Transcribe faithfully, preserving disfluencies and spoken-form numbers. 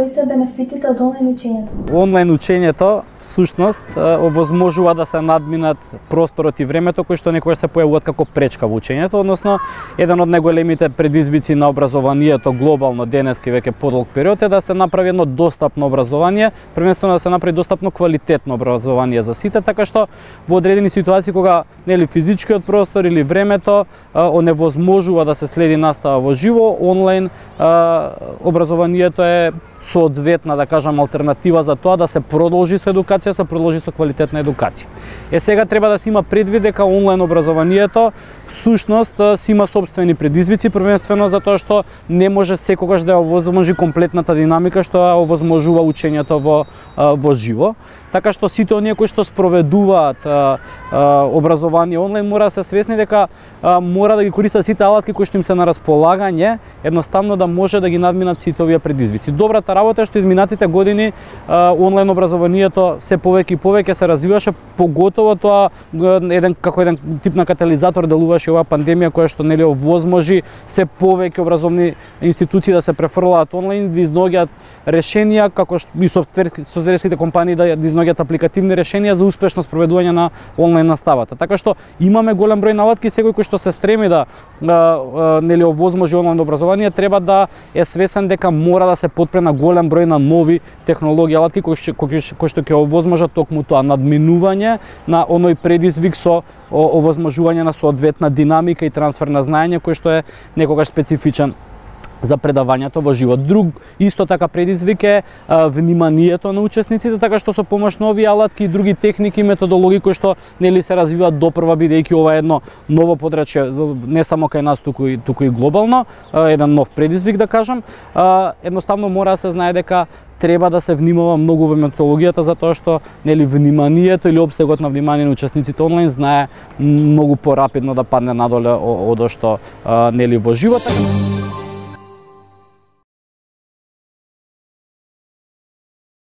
Кои се бенефитите од онлайн учењето? Онлайн учењето всушност овозможува да се надминат просторот и времето кои што некогаш се појавуваат како пречка во учењето, односно еден од најголемите предизвици на образованието глобално денески веќе подолг период е да се направи едно достапно образование, првенствено да се направи достапно квалитетно образование за сите, така што во одредени ситуации кога нели физичкиот простор или времето оневозможува да се следи настава во живо, онлайн образованието е соодветна, да кажам, алтернатива за тоа да се продолжи со едукација, се продолжи со квалитетна едукација. Е сега треба да се има предвид дека онлайн образованието всушност си има собствени предизвици, првенствено затоа што не може секогаш да ја овозможи комплетната динамика што ја овозможува учењето во во живо. Така што сите оние кои што спроведуваат а, а, образование онлайн мора да се свесни дека а, мора да ги користат сите алатки кои што им се на располагање, едноставно да може да ги надминат сите овие предизвици. Добрата работа е што изминатите години а, онлайн образованието се повеќе и повеќе се развиваше, поготово тоа еден како еден тип на катализатор делуваше оваа пандемија која што нели овозможи се повеќе образовни институции да се префрлаат онлайн, да изнаоѓаат решенија како што и софтверските компании да изнаоѓаат апликативни решенија за успешно спроведување на онлайн наставата. Така што имаме голем број наладки, секој кој што се стреми да а, а, нели овозможи онлайн образование треба да е свесен дека мора да се потпре на голем број на нови технологии алатки кои што кои што ќе овозможат токму тоа надминување на оној предизвик со овозможување на соодветна динамика и трансфер на знаење кој што е некогаш специфичен за предавањето во живот. Друг исто така предизвик е а, вниманието на учесниците, така што со помош на овие алатки и други техники и методологии кои што нели се развиваат допрва, бидејќи ова е едно ново подрачје не само кај нас туку и туку и глобално, а, еден нов предизвик да кажам, а, едноставно мора да се знае дека треба да се внимава многу во методологијата затоа што нели вниманието или обсегот на внимание на учесниците онлайн знае многу порапидно да падне надоле од што а, нели во животот.